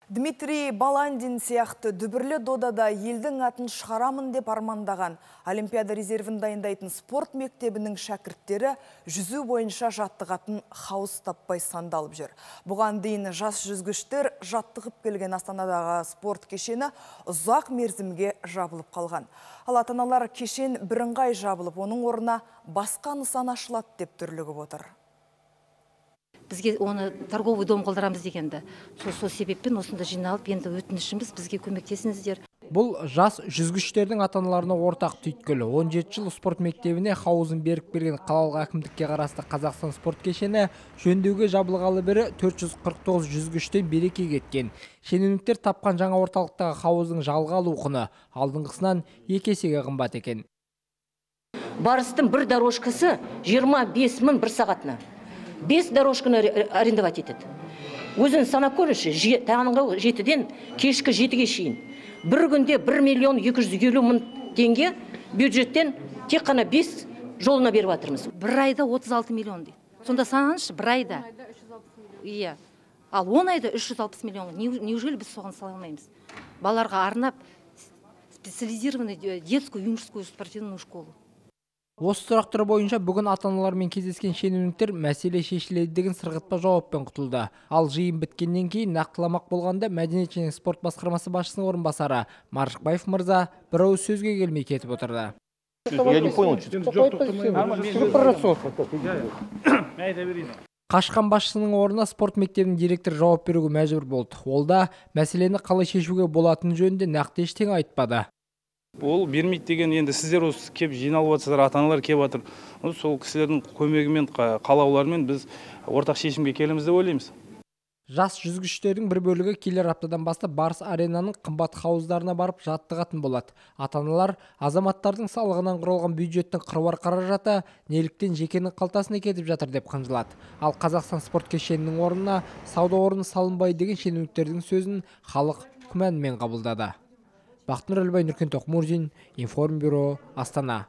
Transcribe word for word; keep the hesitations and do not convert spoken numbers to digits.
Дмитрий Баландин сияқты дүбірлі додада елдің атын шығарамын деп армандаған Олимпиада резервін дайындайтын спорт мектебінің шәкірттері жүзу бойынша жаттығатын хауыз таппай сандалып жүр. Бұған дейін жас жүзгіштер жаттығып келген Астанадағы спорт кешені ұзақ мерзімге жабылып қалған. Ал ата-аналар кешен бірыңғай жабылып, оның орнына басқа нысан ашылады деп дүрлігіп отыр. Бізге оны торговый дом қолдарамыз дегенді. Сол себеппен осында жиналып, енді өтінішіміз бізге көмектесіңіздер. Бұл жас жүзгіштердің ата-аналарына ортақ түйткілі. он жеті жыл спорт мектебіне хауызын беріп берген қалалық әкімдікке қарасты Қазақстан спорт кешені жөндеуге жабылғалы бері төрт жүз қырық тоғыз жүзгіштен береке кеткен. Шенеуніктер тапқан жаңа орталықтағы хауыздың жалға алу құны алдыңғысынан екі есеге қымбат екен. Барыстың бір дорожкасы жиырма бес мың бір сағатына. бес дорожканы арендовать етеді. Өзін санап көрші, таңғы жетіден кешкі жетіге шейін. Бір күнде бір миллион екі жүз елу мың теңге бюджеттен тек қана бес жолына беріп жатырмыз. Бір айда отыз алты миллион дейді. Сонда санаңызшы, бір айда. Иә. Ал он айда үш жүз алпыс миллион. Неужели біз соған сала алмаймыз? Балаларға арнап специализированную детскую юношескую спортивную школу. Осы сұрақтар бойынша бүгін ата-аналармен кездескен шенеуніктер мәселе шешіледі деген сырғытпа жауаппен құтылды. Ал жиын біткеннен кейін нақтыламақ болғанда Мәдениет және спорт басқармасы басшысының орынбасары Маржықбаев мырза бір ауыз сөзге келмей кетіп отырды. Қашқан басшысының орнына спорт мектебінің директоры жауап беруге мәжбүр болды. Ол да мәселені қалай шешуге болатыны жөнінде нақты ештеңе айтпады. Ол бермейді деген, енді сіздер осы кеп жиналып жатсыздар, ата-аналар кеп жатыр. Сол кісілердің көмегімен, қалауларымен біз ортақ шешімге келеміз деп ойлаймыз. Жас жүзгіштердің бір бөлігі келер аптадан бастап Барыс аренаның қымбат хауыздарына барып жаттығатын болады. Ата-аналар азаматтардың салығынан құралған бюджеттің қыруар қаражаты неліктен жекенің қалтасына кетіп жатыр деп қынжылады. Ал Қазақстан спорт кешенінің орнына сауда орны салынбай деген шенеуніктердің сөзін халық күмәнмен қабылдады. Бақтыныр Әлбай, Нұркен Тоқмурзин, Информбюро, Астана.